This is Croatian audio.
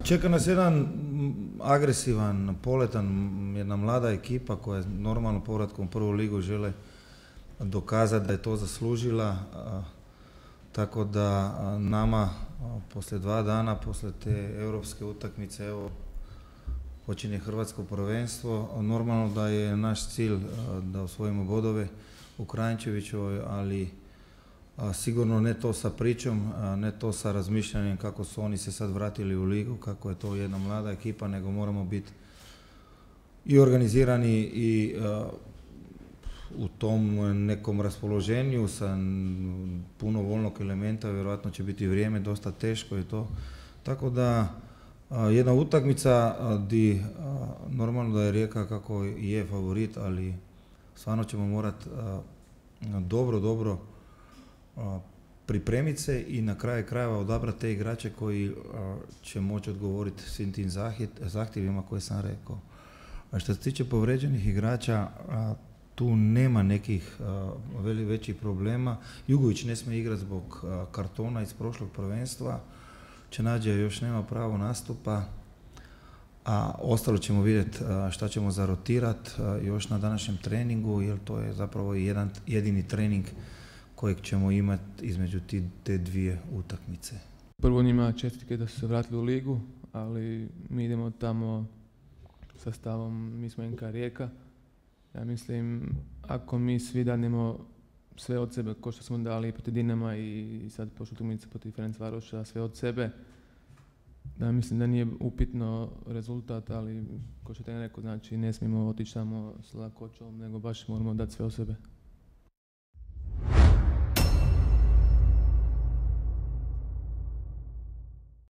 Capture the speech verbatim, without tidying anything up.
Čeka nas jedan agresivan, poletan, jedna mlada ekipa koja je normalno povratkom u prvu ligu žele dokazati da je to zaslužila. Tako da nama poslije dva dana, poslije te europske utakmice, evo, počinje hrvatsko prvenstvo. Normalno da je naš cilj da osvojimo bodove u Kranjčevićevoj, ali a, sigurno ne to sa pričom, a, ne to sa razmišljanjem kako su oni se sad vratili u ligu, kako je to jedna mlada ekipa, nego moramo biti i organizirani i a, u tom nekom raspoloženju sa puno voljnog elementa. Vjerojatno će biti vrijeme dosta teško i to. Tako da a, jedna utakmica di a, normalno da je Rijeka kako je favorit, ali stvarno ćemo morati dobro, dobro a, pripremiti se i na kraju krajeva odabrati te igrače koji a, će moći odgovoriti svim tim zahtjevima koje sam rekao. A što se tiče povređenih igrača, a, tu nema nekih a, veli većih problema. Jugović ne smije igrati zbog a, kartona iz prošlog prvenstva. Čenađe još nema pravo nastupa, a ostalo ćemo vidjeti šta ćemo zarotirati još na današnjem treningu, jer to je zapravo jedan jedini trening kojeg ćemo imati između te dvije utakmice. Prvo njima čestitke da su se vratili u ligu, ali mi idemo tamo sa stavom, mi smo N K Rijeka. Ja mislim, ako mi svi danemo sve od sebe, ko što smo dali protiv Dinama i sad prošlu utakmicu protiv Ferencvaroša, sve od sebe, da mislim da nije upitno rezultat, ali ko što je rekao, znači ne smijemo otići samo s lakoćom, nego baš moramo dati sve od sebe.